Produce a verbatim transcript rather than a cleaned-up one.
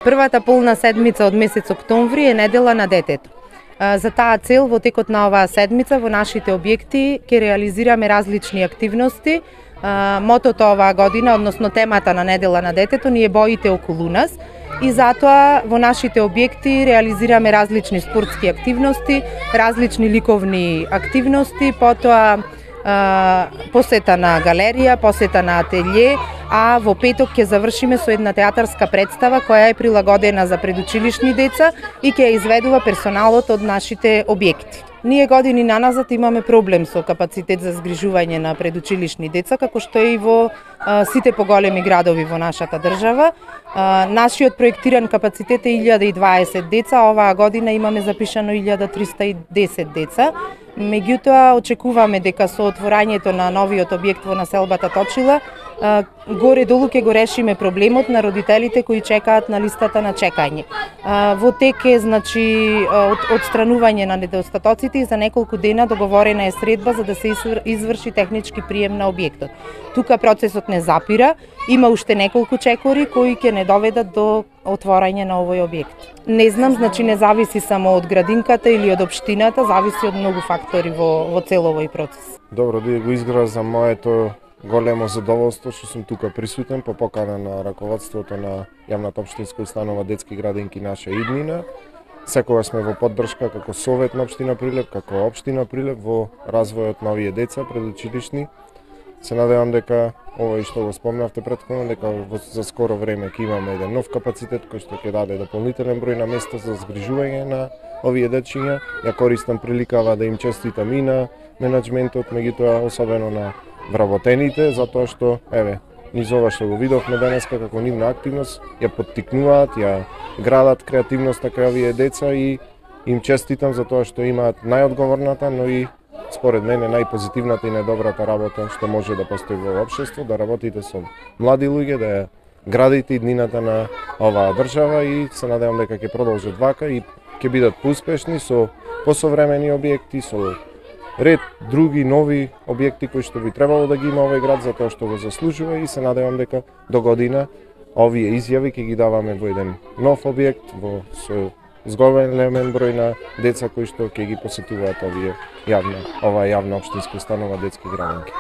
Првата полна седмица од месец октомври е недела на детето. За таа цел во текот на оваа седмица во нашите објекти ќе реализираме различни активности. Мотото оваа година, односно темата на недела на детето, ни е боите околу нас и затоа во нашите објекти реализираме различни спортски активности, различни ликовни активности, потоа посета на галерија, посета на ателје, а во петок ќе завршиме со една театарска представа која е прилагодена за предучилишни деца и ќе ја изведува персоналот од нашите објекти. Ние години наназад имаме проблем со капацитет за згрижување на предучилишни деца, како што е и во а, сите поголеми градови во нашата држава. А, нашиот проектиран капацитет е илјада и дваесет деца, оваа година имаме запишано илјада триста и десет деца. Меѓутоа, очекуваме дека со отворањето на новиот објект во населбата Точила, горе-долу ќе го решиме проблемот на родителите кои чекаат на листата на чекање. Во тек е, значи, отстранување на недостатоците и за неколку дена договорена е средба за да се изврши технички прием на објектот. Тука процесот не запира, има уште неколку чекори кои ќе не доведат до отворање на овој објект. Не знам, значи не зависи само од градинката или од општината, зависи од многу фактори во, во цел овој процес. Добро, да го изгразам моето големо задоволство што сум тука присутен по покана на раководството на јавната општинска установа Детски градинки Наша иднина. Секогаш сме во поддршка како Совет на општина Прилеп, како општина Прилеп во развојот на овие деца предучилишни. Се надевам дека овој што го спомнавте претходно, дека за скоро време ќе имаме еден нов капацитет кој што ќе даде дополнителен број на места за згрижување на овие дечиња. Ја користам приликава да им честитам и на менаџментот, меѓутоа особено на вработените, затоа што, еве, низ ова што го видовме денеска како нивна активност, ја поттикнуваат, ја градат креативноста кај овие деца и им честитам за тоа што имаат најодговорната, но и според мене најпозитивната и најдобрата работа што може да постои во општество, да работите со млади луѓе, да ја градите иднината на оваа држава и се надевам дека ќе продолжат вака и ќе бидат поуспешни со посовремени објекти, со ред други нови објекти кои што би требало да ги има овој град затоа што го заслужува и се надевам дека до година овие изјави ќе ги даваме во еден нов објект во со зголемен број на деца кои што ќе ги посетуваат овие јавна, оваа јавна општинска установа Детски градинки.